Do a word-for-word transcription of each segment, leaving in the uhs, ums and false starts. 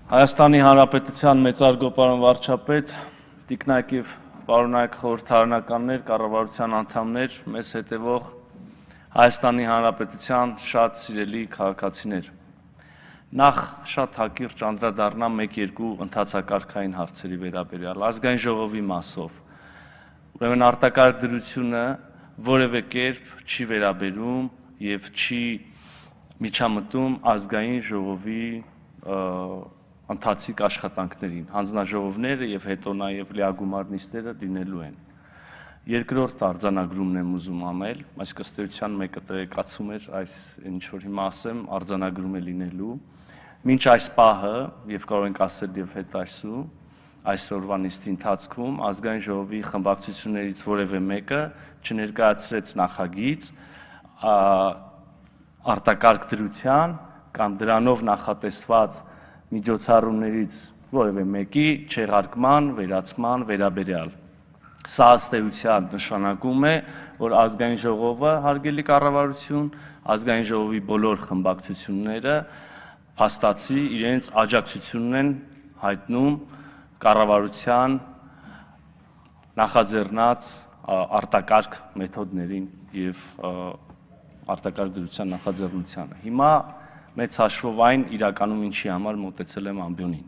Հայաստանի Հանրապետության մեծարգո պարոն վարչապետ, տիկնայք և պարոնայք խորհրդարանականներ, կառավարության անդամներ, մեզ հետևող Հայաստանի Հանրապետության շատ սիրելի քաղաքացիներ։ Նախ շատ հակիրճ անդրադառնամ մեկ-երկու ընթացակարգային հարցերի վերաբերյալ ազգային ժողովի մասով։ Ուրեմն արտակարգ դրությունը որևէ կերպ չի վերաբերում եւ չի միջամտում ազգային ժողովի ընթացիկ աշխատանքներին, հանձնաժողովները եւ հետո նաեւ լիագումար նիստերը լինելու են։ Երկրորդ արձանագրումն եմ ուզում անել, այսինքն ըստ էության մեկը տեղեկացում էր այս ինչ որ հիմա ասեմ, արձանագրում է լինելու։ Մինչ այս պահը, եւ կարող ենք ասել եւ հետայսու, այսօրվա նիստի ընթացքում ազգային ժողովի խմբակցություններից որևէ մեկը չներկայացրեց նախագիծ արտակարգ դրության կամ դրանով նախատեսված միջոցառումներից որևէ մեկի չեղարկման, վերացման վերաբերյալ։ Սա ըստ էության նշանակում է, որ ազգային ժողովը հարգելի կառավարություն, ազգային ժողովի բոլոր խմբակցությունները փաստացի իրենց աջակցությունն են հայտնում կառավարության նախաձեռնած արտակարգ մեթոդներին եւ արտակարգ դրության նախաձեռնությանը։ Հիմա մեծ հաշվով այն իրականում ինչի համար մոտեցել եմ ամբյոնին։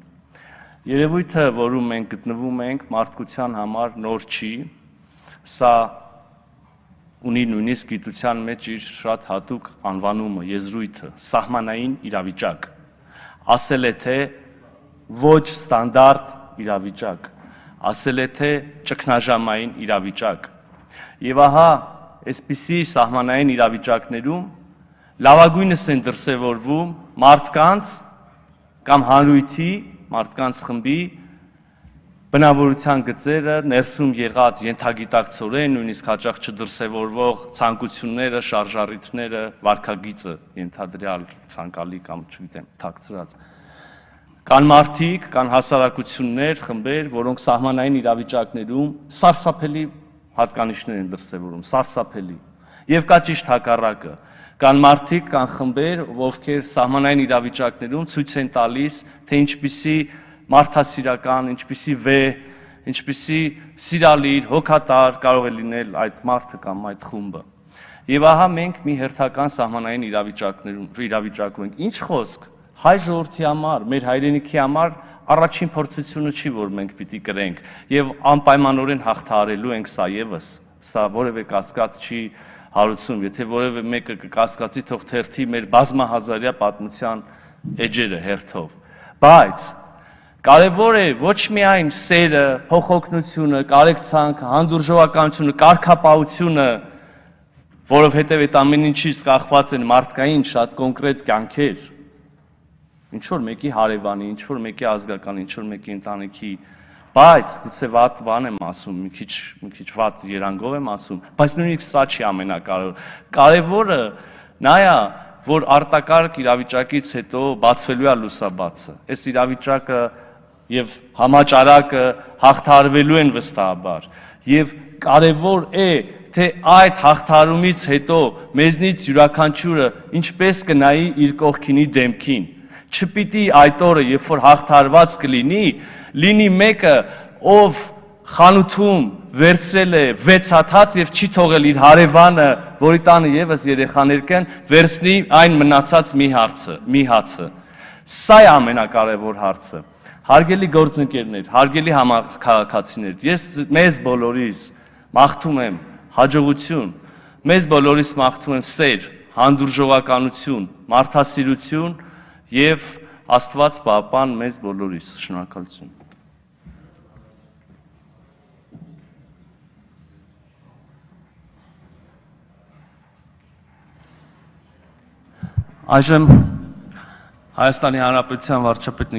Երևույթը, որում մենք գտնվում ենք, մարդկության համար նոր չի, սա ունի նույնիսկ գիտության մեջ իր շատ հատուկ անվանումը, եզրույթը, սահմանային իրավիճակ, ասել է թե ոչ ստանդարտ իրավիճակ, ասել է թե ճգնաժամային իրավիճակ։ Եվ ահա այսպիսի սահմանային իրավիճակներում լավագույնս են դրսևորվում մարդկանց կամ հանրույթի, մարդկանց խմբի բնավորության գծերը, ներսում եղած ենթագիտակցորեն, նույնիսկ հաճախ չդրսևորվող ցանկությունները, շարժառիթները, վարքագիծը ենթադրյալ ցանկալի կամ չգիտեմ, թաքցրած։ Կան մարդիկ, կան հասարակություններ, խմբեր, որոնք սահմանային իրավիճակներում սարսափելի հատկանիշներ են դրսևորում, սարսափելի։ Եվ կա ճիշտ հակառակը։ Կան մարդիկ, կան խմբեր, ովքեր սահմանային իրավիճակներում ցույց են տալիս, թե ինչպիսի մարդասիրական, ինչպիսի վեհ, ինչպիսի սիրալիր, հոգատար կարող է լինել այդ մարդը կամ այդ խումբը։ Եվ ահա մենք մի հերթական սահմանային իրավիճակներում իրավիճակում ենք։ Ինչ խոսք, հայ ժողովրդի համար, մեր հայրենիքի համար առաջին փորձությունը չի, որ մենք պիտի կրենք եւ անպայմանորեն հաղթահարելու ենք սա եւս։ Սա որևէ կասկած չի հարուցում, եթե որևէ մեկը կկասկածի, թող թերթի մեր բազմահազարյա պատմության էջերը հերթով։ Բայց կարևոր է ոչ միայն սերը, փոխօգնությունը, կարեկցանքը, հանդուրժողականությունը, կարգապահությունը, որովհետև այդ ամեն ինչից կախված են մարդկային շատ կոնկրետ կյանքեր, ինչ որ մեկի հարևանի, ինչ որ մեկի ազգական, ինչ որ մեկի ընտանիքի, բայց գուցե վատ բան եմ ասում, մի քիչ մի քիչ վատ երանգով եմ ասում, բայց նույնիսկ սա չի ամենակարևորը։ Կարևորը նա է, որ արտակարգ իրավիճակից հետո բացվելու է լուսաբացը։ Այս իրավիճակը եւ համաճարակը հաղթահարվելու են վստահաբար։ Եվ կարևոր է, թե այդ հաղթահարումից հետո մեզնից յուրաքանչյուրը ինչպես կնայի իր կողքինի դեմքին։ Չպիտի այդ օրը, երբ որ հաղթահարված կլինի, լինի մեկը, ով խանութում վերցրել է վեց հատ հաց եւ չի թողել իր հարևանը, որի տանը եւս երեխաներ կան, վերցնի այն մնացած մի հարցը, մի հացը։ Սա է ամենակարևոր հարցը։ Հարգելի գործընկերներ, հարգելի համաքաղաքացիներ, ես մեզ բոլորիս մաղթում եմ հաջողություն, մեզ բոլորիս մաղթում եմ սեր, հանդուրժողականություն, մարդասիրություն եւ Աստված պահպան մեզ բոլորիս։ Շնորհակալություն։ Այժմ Հայաստանի Հանրապետության վարչապետ